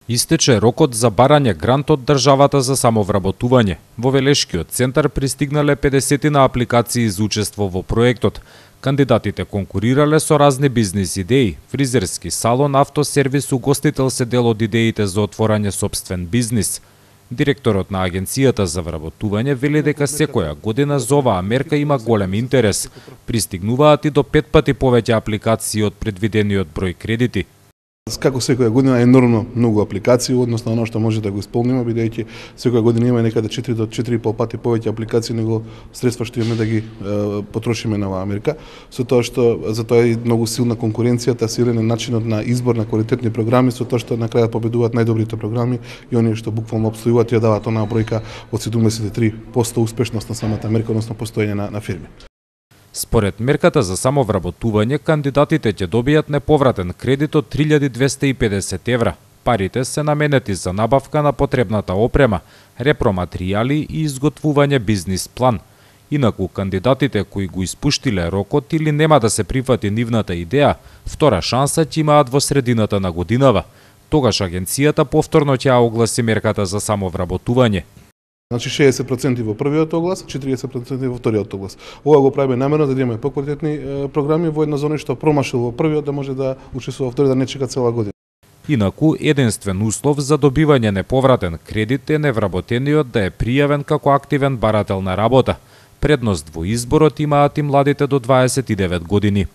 Истече рокот за барање грант од државата за самовработување. Во Велешкиот центар пристигнале 50 на апликации за учество во проектот. Кандидатите конкурирале со разни бизнис идеи. Фризерски салон, автосервис, угостител се дел од идеите за отворање сопствен бизнис. Директорот на Агенцијата за вработување вели дека секоја година за оваа мерка има голем интерес. Пристигнуваат и до 5 пати повеќе апликации од предвидениот број кредити. Како секоја година енормно многу апликации, односно оно што може да го исполниме, бидејќи секоја година има некаде 4 до 4,5 пати повеќе апликации него средства што имаме да ги потрошиме на оваа мерка. Со тоа што за тоа е многу силна конкуренцијата, силен начинот на избор на квалитетни програми, со тоа што на крајот победуваат најдобрите програми и оние што буквално опстојуваат ја даваат онаа бројка од 73% успешност на самата мерка, односно постоење на фирми. Според мерката за самовработување, кандидатите ќе добијат неповратен кредит од 3250 евра. Парите се наменети за набавка на потребната опрема, репроматеријали и изготвување бизнис план. Инаку кандидатите кои го испуштиле рокот или нема да се прифати нивната идеја, втора шанса ќе имаат во средината на годинава. Тогаш агенцијата повторно ќе ја огласи мерката за самовработување. Значи 60% во првиот оглас, 40% во вториот оглас. Ова го правиме намерно да имаме поквалитетни програми во една зона што промашил во првиот да може да учествува во вториот, да не чека цела година. Инаку единствен услов за добивање неповратен кредит е невработениот да е пријавен како активен барател на работа. Предност во изборот имаат и младите до 29 години.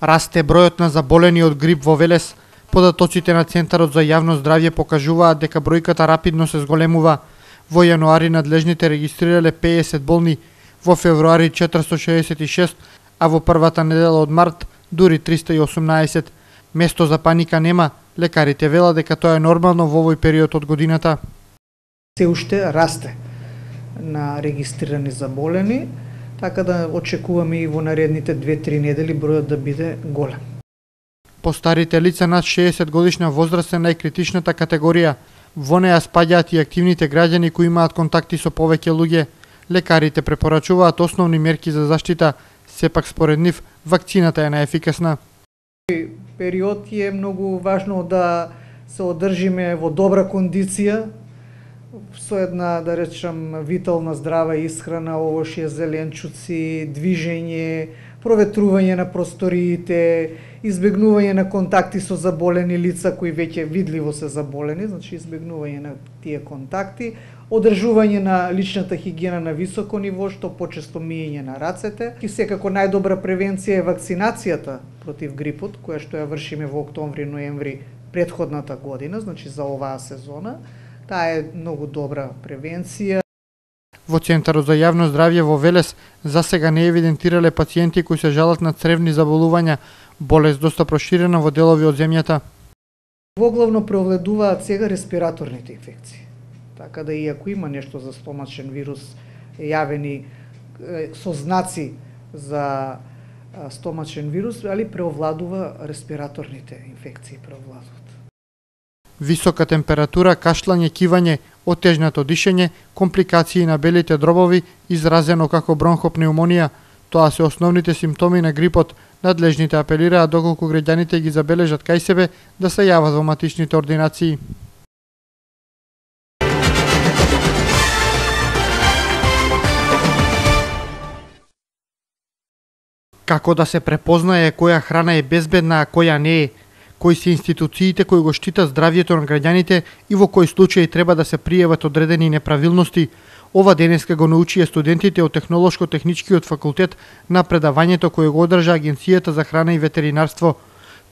Расте бројот на заболени од грип во Велес. Податоците на Центарот за јавно здравје покажуваат дека бројката рапидно се зголемува. Во јануари надлежните регистрирале 50 болни, во февруари 466, а во првата недела од март дури 318. Место за паника нема, лекарите велат дека тоа е нормално во овој период од годината. Се уште расте на регистрирани заболени, така да очекуваме и во наредните 2-3 недели бројот да биде голем. Постарите лица над 60 годишна возраст е најкритичната категорија. Во неа спаѓаат и активните граѓани кои имаат контакти со повеќе луѓе. Лекарите препорачуваат основни мерки за заштита, сепак според нив вакцината е најефикасна. Период е многу важно да се одржиме во добра кондиција, со една, да речам, витална здрава исхрана, овошје, зеленчуци, движење, проветрување на просториите, избегнување на контакти со заболени лица кои веќе видливо се заболени, значи избегнување на тие контакти, одржување на личната хигиена на високо ниво, што почесто миење на рацете. И секако најдобра превенција е вакцинацијата против грипот, која што ја вршиме во октомври-ноември претходната година, значи за оваа сезона. Таа е многу добра превенција. Во Центарот за јавно здравје во Велес за сега не евидентирале пациенти кои се жалат на цревни заболувања, болест доста проширена во делови од земјата. Воглавно преовледуваат сега респираторните инфекции. Така да иако има нешто за стомачен вирус јавени со знаци за стомачен вирус, али преовладува респираторните инфекции преовладуваат. Висока температура, кашлање, кивање, отежнато дишење, компликации на белите дробови, изразено како бронхопнеумонија. Тоа се основните симптоми на грипот. Надлежните апелираат доколку граѓаните ги забележат кај себе да се јават во матичните ординации. Како да се препознае која храна е безбедна, а која не е? Кои се институциите кои го штитат здравјето на граѓаните и во кои случаи треба да се пријават одредени неправилности? Ова денеска го научија студентите од Технолошко-техничкиот факултет на предавањето кое го одржа Агенцијата за храна и ветеринарство.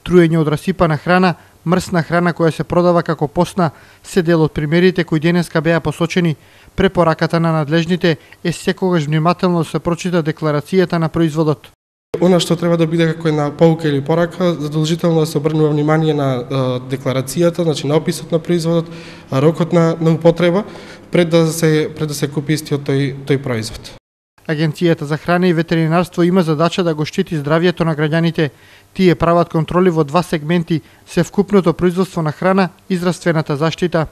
Труење од расипана храна, мрсна храна која се продава како постна, се дел од примерите кои денеска беа посочени. Препораката на надлежните е секогаш внимателно да се прочита декларацијата на производот. Она што треба да биде како една поука или порака, задолжително да се обрнува внимание на декларацијата, значи на описот на производот, рокот на употреба, пред да се купи истиот тој производ. Агенцијата за храна и ветеринарство има задача да го штити здравјето на граѓаните. Тие прават контроли во два сегменти: севкупното производство на храна и здравствената заштита.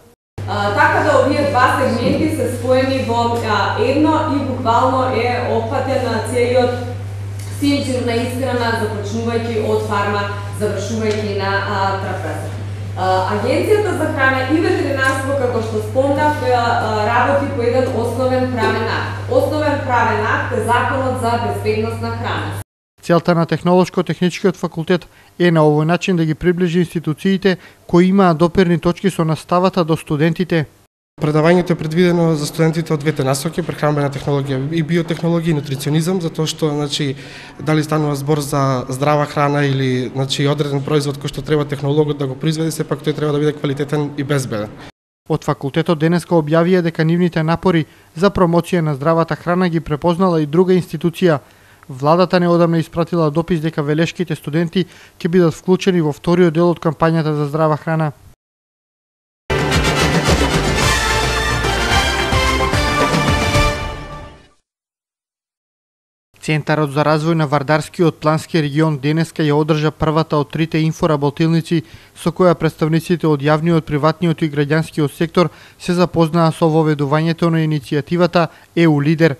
Така да овие два сегменти се споени во едно и буквално е опфатен целиот синтезна исхрана, започнувајќи од фарма, завршувајќи на трапеза. Агенцијата за храна и ветеринарство, како што спомнав, работи по еден основен правен акт. Основен правен акт е Законот за безбедност на храна. Целта на Технолошко-техничкиот факултет е на овој начин да ги приближи институциите кои имаат доперни точки со наставата до студентите. Предавањето е предвидено за студентите од двете насоки, прехранбена технологија и биотехнологија и нутриционизам, затоа што дали станува збор за здрава храна или одреден производ кој што треба технологот да го произведе, сепак тој треба да биде квалитетен и безбеден. Од факултетот денеска објавија дека нивните напори за промоција на здравата храна ги препознала и друга институција. Владата неодамна испратила допис дека велешките студенти ќе бидат вклучени во вториот дел од кампањата за здрава храна. Центарот за развој на Вардарскиот плански регион денеска ја одржа првата од трите инфоработилници со која представниците од јавниот, приватниот и граѓанскиот сектор се запознаа со воведувањето на иницијативата ЕУ Лидер.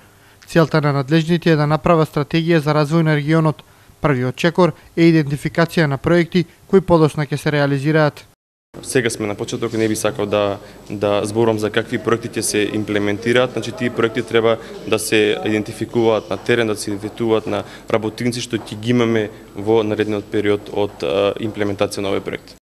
Целта на надлежните е да направат стратегија за развој на регионот. Првиот чекор е идентификација на проекти кои подоцна ќе се реализираат. Сега сме на почеток, не би сакал да зборам за какви проекти ќе се имплементираат. Тие проекти треба да се идентификуваат на терен, да се идентификуваат на работници што ќе ги имаме во наредниот период од имплементација на овој проект.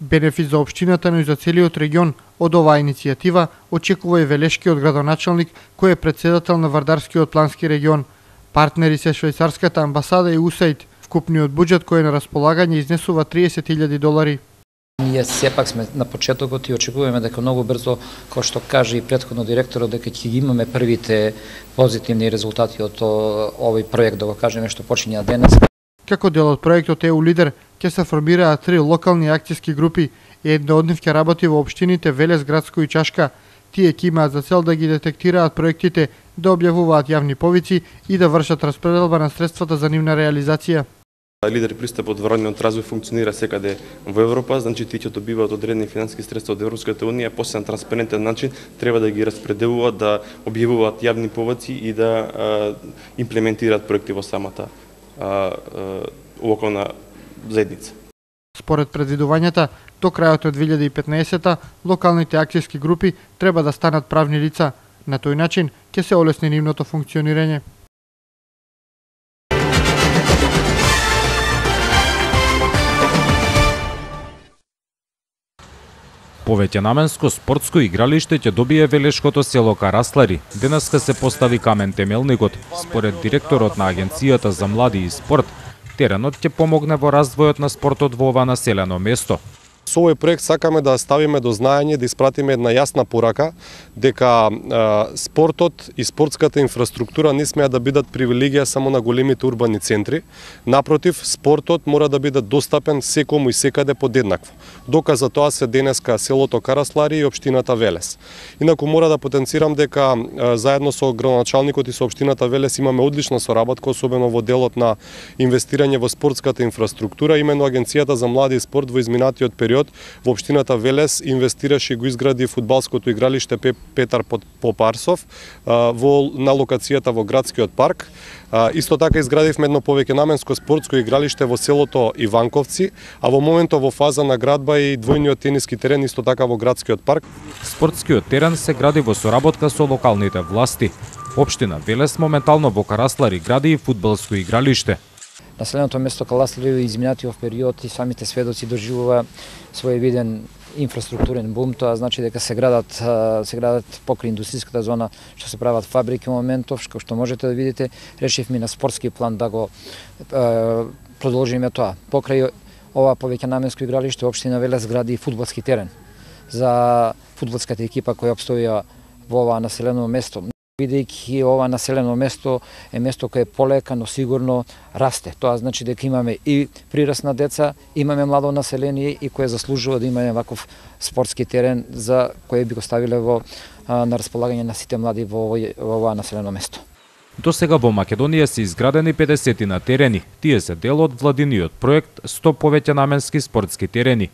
Бенефит за општината, но и за целиот регион од оваа иницијатива очекува и велешкиот градоначалник кој е председател на Вардарскиот плански регион. Партнери се швајцарската амбасада и USAID. Вкупниот буџет кој е на располагање изнесува $30,000. Ние сепак сме на почетокот и очекуваме дека многу брзо, како што каже и претходно директорот, дека ќе ги имаме првите позитивни резултати од овој проект, да го кажеме, што почиња денес. Како дел од проектот ЕУ Лидер ќе се формираат 3 локални акцијски групи и една од нив ќе работи во општините Велес, Градско и Чашка. Тие ќе имаат за цел да ги детектираат проектите, да објавуваат јавни повици и да вршат распределба на средствата за нивна реализација. Лидер пристапот во руралниот развој функционира секаде во Европа, тие ќе добиваат одредени финансиски средства од Европската унија, после на транспарентен начин треба да ги распределуваат, да објавуваат јавни повици и да имплементираат проекти во самата локална заедница. Според предвидувањата, до крајот од 2015 локалните акцијски групи треба да станат правни лица. На тој начин ќе се олесни нивното функционирање. Повеќе наменско спортско игралиште ќе добие велешкото село Караслари. Денеска се постави камен темелникот. Според директорот на Агенцијата за млади и спорт, теренот ќе помогне во развојот на спортот во ова населено место. Со овој проект сакаме да ставиме до знаење, да испратиме една јасна порака дека спортот и спортската инфраструктура не смеа да бидат привилегија само на големите урбани центри. Напротив, спортот мора да биде достапен секому и секаде подеднакво. Доказ за тоа се денеска селото Караслари и општината Велес. Инаку мора да потенцирам дека заедно со градоначалникот и со општината Велес имаме одлична соработка, особено во делот на инвестирање во спортската инфраструктура. Именно Агенцијата за млади и спорт во изминатиот период во општината Велес инвестираше и го изгради фудбалското игралиште Петар Попарсов на локацијата во градскиот парк. Исто така изградивме едно повеќенаменско спортско игралиште во селото Иванковци, а во моментот во фаза на градба и двојниот тениски терен исто така во градскиот парк. Спортскиот терен се гради во соработка со локалните власти. Општина Велес моментално во Караслари гради и фудбалско игралиште. Населеното место Караслари изминатиот период и самите сведоци доживува своевиден инфраструктурен бум, тоа значи дека се градат покрај индустријската зона, што се прават фабрики моментов, што можете да видите. Решивме на спортски план да го продолжиме тоа. Покрај ова повеќенаменско игралиште, општина Велес гради фудбалски терен за фудбалската екипа која обстоја во ова населено место. Бидејќи ова населено место е место кое е полека, но сигурно расте. Тоа значи дека имаме и прираст на деца, имаме младо население и кое заслужува да имаме ваков спортски терен за кое би го ставиле на располагање на сите млади во ова населено место. До сега во Македонија се изградени 50 на терени. Тие се дел од владиниот проект 100 повеќенаменски спортски терени.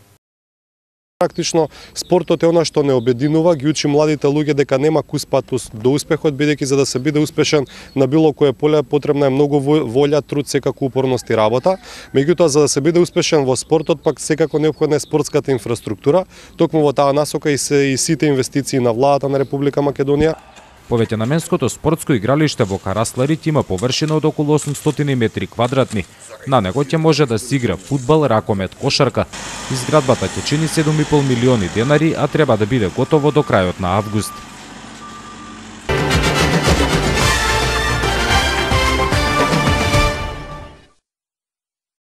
Практично спортот е она што не обединува, ги учи младите луѓе дека нема кус пат до успехот, бидејќи за да се биде успешен на било кое поле потребна е многу волја, труд, секако упорност и работа. Меѓутоа за да се биде успешен во спортот пак секако неопходна е спортската инфраструктура. Токму во таа насока и сите инвестиции на владата на Република Македонија. Повеќе наменското спортско игралиште во Карасларит има површина од околу 800 метри квадратни. На него ќе може да се игра фудбал, ракомет, кошарка. Изградбата ќе чини 7,5 милиони денари, а треба да биде готово до крајот на август.